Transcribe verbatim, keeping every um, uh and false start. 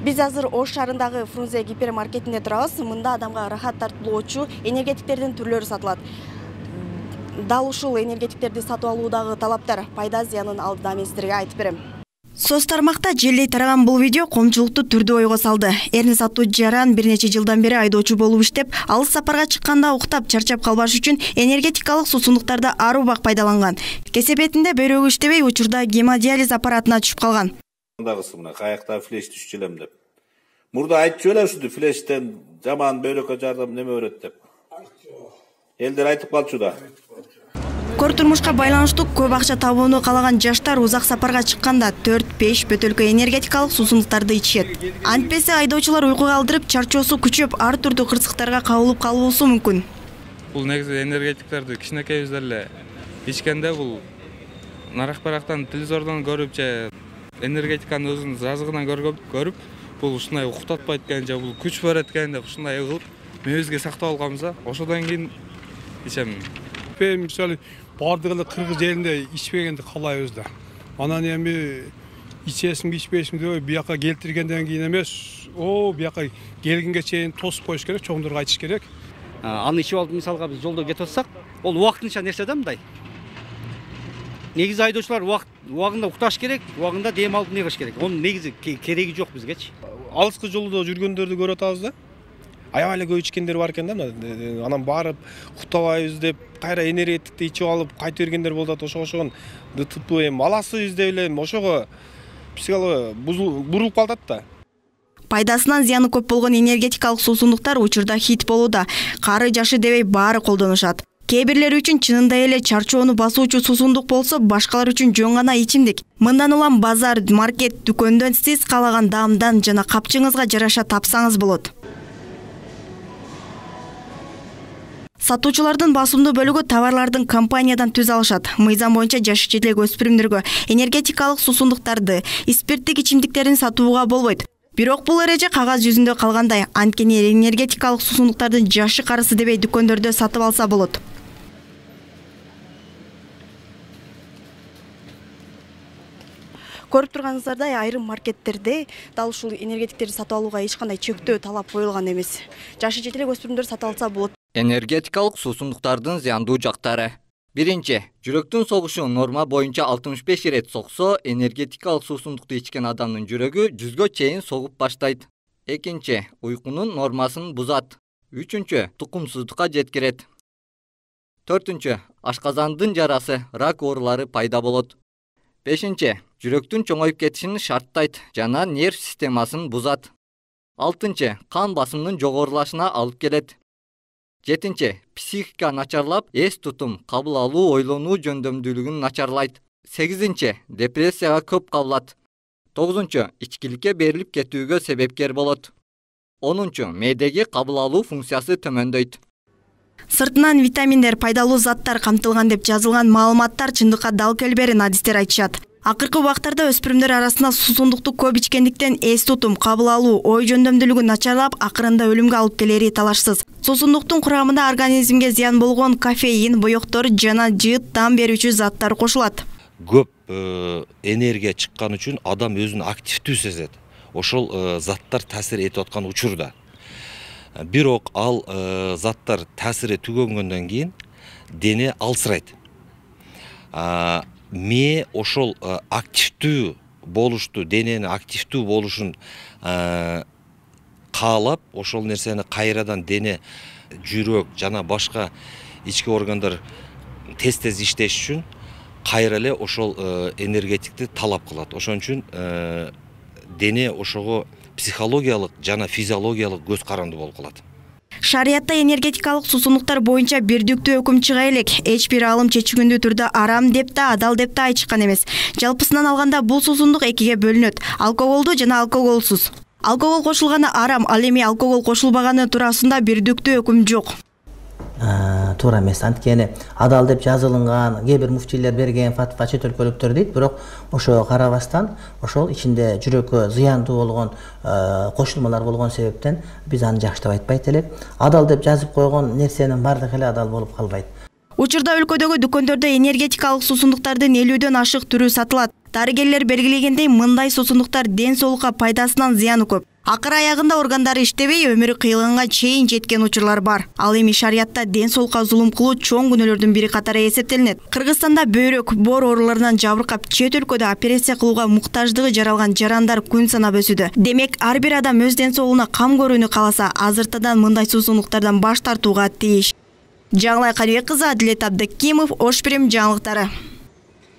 Биз азыр Ош шаарындагы Фрунзе гипермаркетинде турабыз. Мында адамга рахат тартуулоочу энергетиктердин түрлөрү сатылат. Дал ушул энергетиктерди сатып алуудагы талаптар, пайда зыянын алдыда мен сиздерге айтып берем. Соц тармакта желдей тараган бул видео коомчулукту түрдүү ойго салды. Эрни сатуу жаран бир нече жылдан бери айдоочу болуп иштеп, алыс сапарга чыкканда уктап, чарчап калбаш үчүн энергетикалык сусундуктарды ар убак пайдаланган. Кесепетинде бөйрөгү иштебей, учурда гемодиализ аппаратына түшүп калган. Дагысы мына каякта флеш түшүп элем деп. Мурда айтчу эле ушул флештен жаман бөйрөккө жардам неме берет деп. Элдер айтып калчу да. Кор турмушка байланыштуу көп акча табууну каалаган жаштар узак сапарга чыкканда төрт беш бөтөлкө энергетикалык суусундуктарды ичишет. Антпесе айдоочулар уйкуга алдырып, чарчоосу күчөп, ар түрдүү кырсыктарга кабылып калуусу мүмкүн. Бул негизи энергетиктерди кичинекейибизден эле ичкенде бул нарак-барактан, телевизордон көрүп же энергетиканын өзүнүн жазыгынан көрүп, бул ушундай уктатпайт экен же бул күч берет экен деп ушундай кылып мээбизге сактап алганбыз да. Ошодон кийин ичем. Мисалы бардыгы эле кыргыз жеринде ичпегенди каалайбыз да. Анан эми ичесимби ичпейсимби деп бияка келтиргенден кийин эмес, о бияка келгенге чейин тосуп коюш керек, чоңдорго айтыш керек. Аны ичип алып мисалга биз жолдо кетип атсак, ол убактынча нерсе да мындай. Негизи айдоочулар убакыт убагында укташ керек, убагында дем алып не кылыш керек. Онун негизи кереги жок бизгечи. Алыскы жолдо жүргөндөрдү көрүп атабыз да. Аябай эле көп ичкендер бар экен да. Анан барып уктабайбыз деп, кайра энергетикти ичип алып кайтып бергендер болуп атат. Ошого ДТП эми аласыз деп эле ошого психология бурулуп калат да. Пайдасынан зыяны көп болгон энергетикалык суусундуктар учурда хит болууда. Кары жашы дебей баары колдонушат. Кээ бирлери үчүн чынында эле чарчоону басуучу суусундук болсо, башкалар үчүн жөн гана ичимдик. Мындан улам базар, маркет, дүкөндөн сиз каалаган даамдан жана капчыгыңызга жараша тапсаңыз болот. Сатуучулардын басымдуу бөлүгү товарлардын компаниядан түз алышат. Мыйзам боюнча жашы жетилек өспүрүмдөргө энергетикалык суусундуктарды, спирттик ичимдиктерин сатууга болбойт. Бирок бул эреже кагаз жүзүндө калгандай, анткени энергетикалык суусундуктардын жашы карысы дебей дүкөндөрдө сатып алса болот. Көрүп турганыңыздардай, айрым маркеттерде дал ушул энергетиктерди сатып алууга эч кандай чектөө талап коюлган эмес. Жашы жетилек өспүрүмдөр сатып алса болот. Энергетикалык суусундуктардын зыяндуу жактары. Биринчи, жүрөктүн согушу норма боюнча алтымыш беш ирет соксо, энергетикалык суусундукту ичкен адамдын жүрөгү жүзгө чейин согуп баштайт. Экинчи, уйкунун нормасын бузат. Үчүнчү, тукумсуздукка жеткирет. Төртүнчү, ашказандын жарасы, рак оорулары пайда болот. Бешинчи, жүрөктүн чоңоюп кетишин шарттайт жана нерв системасын бузат. Алтынчы, кан басымынын жогорулашына алып келет. Жетинчи, психика начарлап, эс тутум, кабыл алуу, ойлонуу жөндөмдүүлүгүн начарлайт. Сегизинчи, депрессияга көп кабылат. Тогузунчу, ичкиликке берилип кетүүгө себепкер болот. Онунчу, мээдеги кабыл алуу функциясы төмөндөйт. Сыртынан витаминдер, пайдалуу заттар камтылган деп жазылган маалыматтар чындыкка дал келберин адистер айтышат. Акыркы убактарда өспүрүмдөр арасында суусундукту көп ичкендиктен эс тутум, кабыл алуу, ой жөндөмдүүлүгү начарлап, акырында өлүмгө алып келери талашсыз. Суусундуктун курамында организмге зыян болгон кофеин, боектор жана жыт дам берүүчү заттар кошулат. Көп энергия чыккан үчүн адам өзүн активдүү сезет. Ошол заттар таасир этип аткан учурда. Бирок ал заттар таасири түгөнгөндөн кийин дене алсырайт. Ме ошол активдүү болушту, денени активдүү болушун каалап, ошол нерсени кайрадан дене, жүрөк жана башка ички органдар тез-тез иштеш үчүн кайра эле ошол энергетикти талап кылат. Ошон үчүн дене ошого психологиялык жана физиологиялык көз каранды болуп калат. Шариятта энергетикалык суусундуктар боюнча бирдиктүү өкүм чыга элек. Эч бир алым чечүүгүндүү түрдө арам деп да, адал деп да айтышкан эмес. Жалпысынан алганда бул суусундук экиге бөлүнөт: алкоголдуу жана алкоголсуз. Алкогол кошулганы арам, ал эми алкогол кошулбаганы туурасында бирдиктүү өкүм жок. Туура эмес, анткени адал деп жазылган кээ бир муфтийлер берген фатва чет өлкөлүктөр дейт, бирок ошого карабастан ошол ичинде жүрөккө зыяндуу болгон кошулмалар болгон себептен биз аны жакшы деп айтпайт элек. Адал деп жазып койгон нерсенин бардыгы эле адал болуп калбайт. Учурда өлкөдөгү дүкөндөрдө энергетикалык суусундуктардын элүүдөн ашык түрү сатылат. Дарыгерлер белгилегендей, мындай суусундуктар ден соолукка пайдасынан зыяны көп. Акыр аягында органдары иштебей, өмүрү кыйылганга чейин жеткен учурлар бар. Ал эми шариятта ден соолукка зулум кылуу чоң күнөөлөрдүн бири катары эсептелинет. Кыргызстанда бөйрөк, боор ооруларынан жабыркап, чет өлкөдө операция кылууга муктаждыгы жаралган жарандар күн санап өсүүдө. Демек, ар бир адам өз ден соолугуна кам көрүүнү кааласа, азыртадан мындай суусундуктардан баш тартууга тийиш. Жаңылай Калыбек кызы, Адилет Абдыкимов, Ош Прим жаңылыктары.